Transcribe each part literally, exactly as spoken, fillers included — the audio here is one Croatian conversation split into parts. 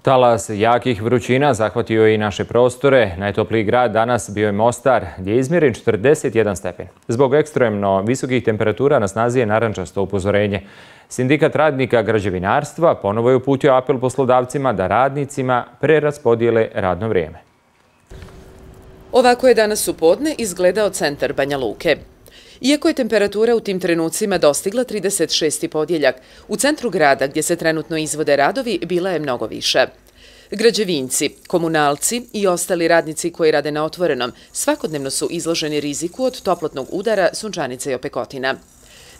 Talas jakih vrućina zahvatio je i naše prostore. Najtopliji grad danas bio je Mostar, gdje je izmjeren četrdeset jedan stepen. Zbog ekstremno visokih temperatura na snazi je narančasto upozorenje. Sindikat radnika građevinarstva ponovo je uputio apel poslodavcima da radnicima preraspodijele radno vrijeme. Ovako je danas u podne izgledao centar Banja Luke. Iako je temperatura u tim trenucima dostigla trideset šesti podjeljak, u centru grada gdje se trenutno izvode radovi bila je mnogo viša. Građevinci, komunalci i ostali radnici koji rade na otvorenom svakodnevno su izloženi riziku od toplotnog udara, sunčanice i opekotina.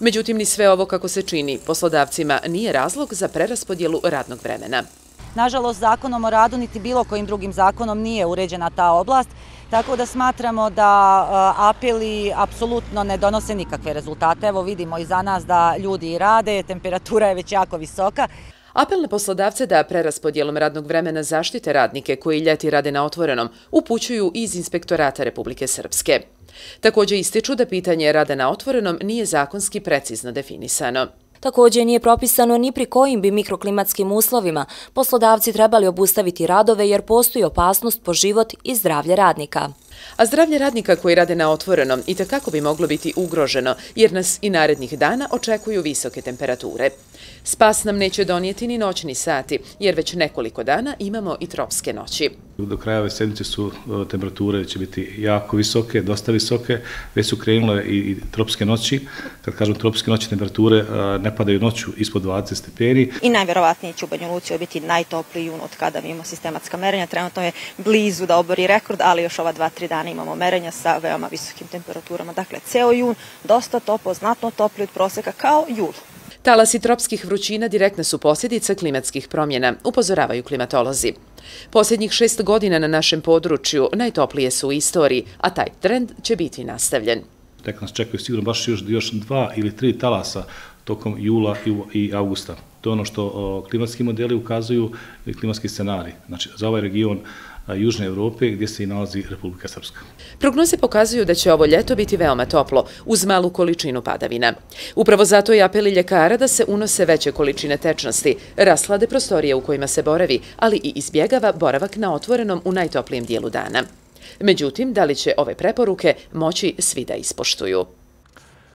Međutim, ni sve ovo kako se čini poslodavcima nije razlog za preraspodjelu radnog vremena. Nažalost, zakonom o radu niti bilo kojim drugim zakonom nije uređena ta oblast, tako da smatramo da apeli apsolutno ne donose nikakve rezultate. Evo vidimo i za nas da ljudi i rade, temperatura je već jako visoka. Apel na poslodavce da preraspodjelom radnog vremena zaštite radnike koji ljeti rade na otvorenom upućuju iz Inspektorata Republike Srpske. Također ističu da pitanje rada na otvorenom nije zakonski precizno definisano. Također nije propisano ni pri kojim bi mikroklimatskim uslovima poslodavci trebali obustaviti radove jer postoji opasnost po život i zdravlje radnika. A zdravlje radnika koji rade na otvorenom itekako bi moglo biti ugroženo jer nas i narednih dana očekuju visoke temperature. Spas nam neće donijeti ni noćni sati jer već nekoliko dana imamo i tropske noći. Do kraja ove sedmice su temperature će biti jako visoke, dosta visoke, već su krenule i tropske noći. Kad kažem tropske noći, temperature ne padaju noću ispod dvadeset stepeni. I najvjerovatnije će u Banja Luci biti najtopliji jun od kada imamo sistematska merenja. Trenutno je blizu da obori rekord, ali još ova dva, tri dana imamo merenja sa veoma visokim temperaturama. Dakle, ceo jun dosta toplo, znatno topliji od proseka kao jul. Talasi tropskih vrućina direktna su posljedica klimatskih promjena, upozoravaju klimatolozi. Posljednjih šest godina na našem području najtoplije su u istoriji, a taj trend će biti nastavljen. Tek nas čekaju sigurno baš još, još dva ili tri talasa tokom jula i augusta. To je ono što klimatski modeli ukazuju i klimatski scenarij. Znači, za ovaj region Južne Evrope gdje se i nalazi Republika Srpska. Prognoze pokazuju da će ovo ljeto biti veoma toplo, uz malu količinu padavina. Upravo zato je apel ljekara da se unose veće količine tečnosti, raslade prostorije u kojima se boravi, ali i izbjegava boravak na otvorenom u najtoplijem dijelu dana. Međutim, da li će ove preporuke moći svi da ispoštuju?